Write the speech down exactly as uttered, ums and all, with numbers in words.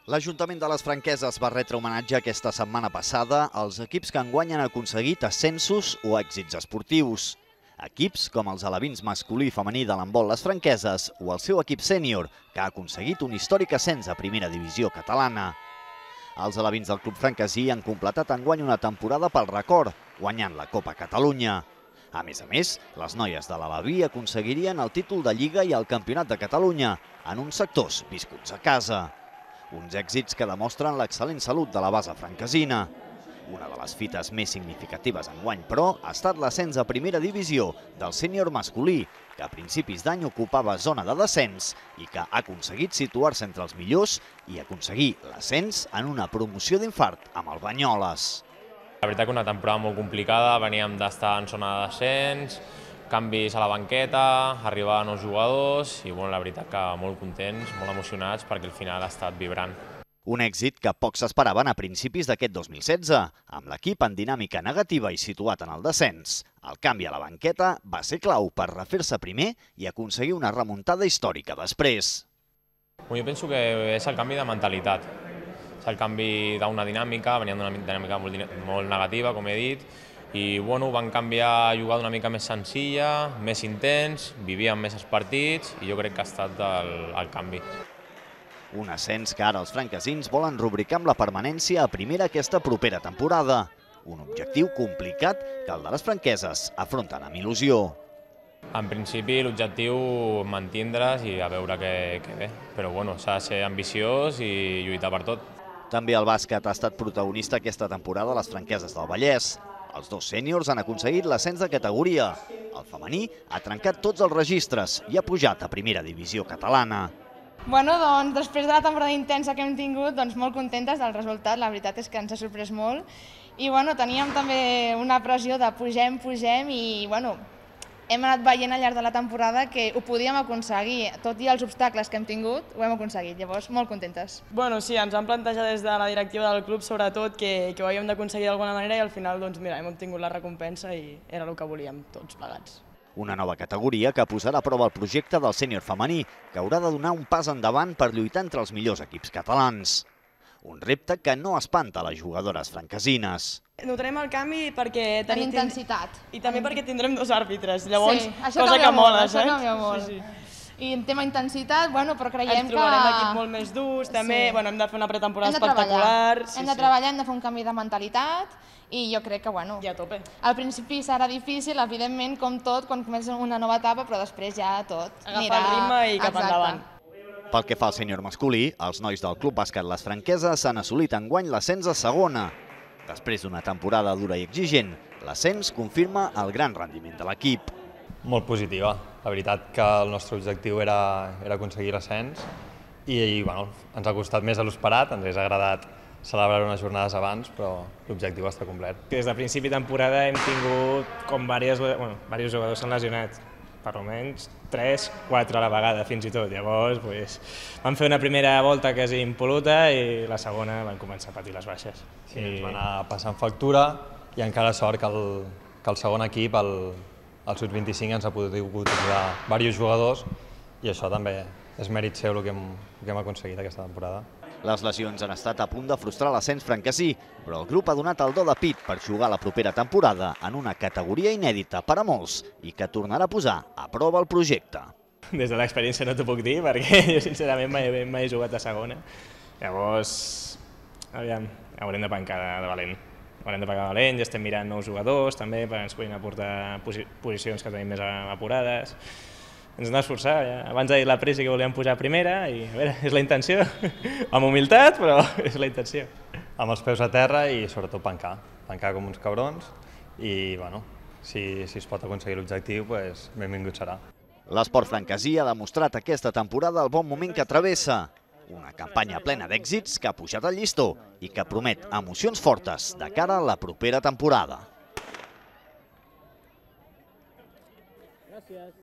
L'Ajuntament de les Franqueses va retre homenatge aquesta setmana passada als equips que enguany han aconseguit ascensos o èxits esportius. Equips com els alevins masculí i femení de l'handbol Les Franqueses o el seu equip sènior, que ha aconseguit un històric ascens a primera divisió catalana. Els alevins del club franquesí han completat enguany una temporada pel record, guanyant la Copa Catalunya. A més a més, les noies de l'Aleví aconseguirien el títol de Lliga i el Campionat de Catalunya, en uns sectors viscuts a casa. Uns èxits que demostren l'excel·lent salut de la base franquesina. Una de les fites més significatives enguany, però, ha estat l'ascens a primera divisió del sènior masculí, que a principis d'any ocupava zona de descens i que ha aconseguit situar-se entre els millors i aconseguir l'ascens en una promoció d'infart amb el Banyoles. La veritat que una temporada molt complicada, veníem d'estar en zona de descens, canvis a la banqueta, arribar a nous jugadors i bueno, la veritat que molt contents, molt emocionats perquè el final ha estat vibrant. Un èxit que pocs s'esperaven a principis d'aquest dos mil setze, amb l'equip en dinàmica negativa i situat en el descens. El canvi a la banqueta va ser clau per refer-se primer i aconseguir una remuntada històrica després. Jo penso que és el canvi de mentalitat. És el canvi d'una dinàmica, veníem d'una dinàmica molt, molt negativa, com he dit, i bueno, van canviar a jugar d'una mica més senzilla, més intens, vivíem més els partits i jo crec que ha estat el, el canvi. Un ascens que ara els franquesins volen rubricar amb la permanència a primera aquesta propera temporada. Un objectiu complicat que el de les franqueses afronten amb il·lusió. En principi l'objectiu mantindre's i a veure què, què ve, però bueno, s'ha de ser ambiciós i lluitar per tot. També el bàsquet ha estat protagonista aquesta temporada a les Franqueses del Vallès. Els dos sèniors han aconseguit l'ascens de categoria. El femení ha trencat tots els registres i ha pujat a primera divisió catalana. Bueno, doncs, després de la temporada intensa que hem tingut, doncs molt contentes del resultat. La veritat és que ens ha sorprès molt. I bueno, teníem també una pressió de pugem, pugem i bueno, hem anat veient al llarg de la temporada que ho podíem aconseguir. Tot i els obstacles que hem tingut, ho hem aconseguit. Llavors, molt contentes. Bueno, sí, ens vam plantejar des de la directiva del club, sobretot, que, que ho havíem d'aconseguir d'alguna manera i al final, doncs, mira, hem obtingut la recompensa i era el que volíem tots plegats. Una nova categoria que posarà a prova el projecte del sènior femení, que haurà de donar un pas endavant per lluitar entre els millors equips catalans. Un repte que no espanta les jugadores franquesines. Notarem el canvi perquè... En intensitat. I també perquè tindrem dos àrbitres, llavors, sí, això cosa que mola, això canvia molt. Sí, sí. I en tema intensitat, bueno, però creiem Ens que... Ens trobarem l'equip molt més durs, també, sí. bueno, hem de fer una pretemporada hem espectacular. Sí, hem de treballar, hem de fer un canvi de mentalitat i jo crec que, bueno, I a tope. Al principi serà difícil, evidentment, com tot, quan comença una nova etapa, però després ja tot Agafar anirà... el ritme i cap Exacte. endavant. Pel que fa al sènior masculí, els nois del Club Bàsquet Les Franqueses han assolit enguany l'ascens a segona. Després d'una temporada dura i exigent, l'ascens confirma el gran rendiment de l'equip. Molt positiva. La veritat que el nostre objectiu era, era aconseguir l'ascens i, i bueno, ens ha costat més de l'esperat, ens hauria agradat celebrar unes jornades abans, però l'objectiu està complet. Des de principi de temporada hem tingut com diversos, bueno, diversos jugadors s'han lesionat, per almenys tres, quatre a la vegada fins i tot. Llavors pues, vam fer una primera volta quasi impol·luta i la segona van començar a patir les baixes. Sí, I... ens va anar passant factura i encara sort que el, que el segon equip, el, el sub vint-i-cinc, ens ha pogut utilitzar diversos jugadors i això també és mèrit seu el que hem, el que hem aconseguit aquesta temporada. Les lesions han estat a punt de frustrar l'ascens franquesí, però el grup ha donat el do de pit per jugar la propera temporada en una categoria inèdita per a molts i que tornarà a posar a prova el projecte. Des de l'experiència no t'ho puc dir, perquè jo sincerament mai, mai he jugat a segona. Llavors, aviam, haurem de pencar de valent. Haurem de pencar de valent, ja estem mirant nous jugadors també, perquè ens puguin aportar posi posicions que tenim més apurades. Ens hem d'esforçar, ja. Abans ha dit la pressa que volíem pujar a primera i a veure, és la intenció, amb humilitat, però és la intenció. Amb els peus a terra i sobretot pencar, pencar com uns cabrons i bueno, si, si es pot aconseguir l'objectiu, pues, benvingut serà. L'esport franquesí ha demostrat aquesta temporada el bon moment que travessa. Una campanya plena d'èxits que ha pujat al llistó i que promet emocions fortes de cara a la propera temporada. Gràcies.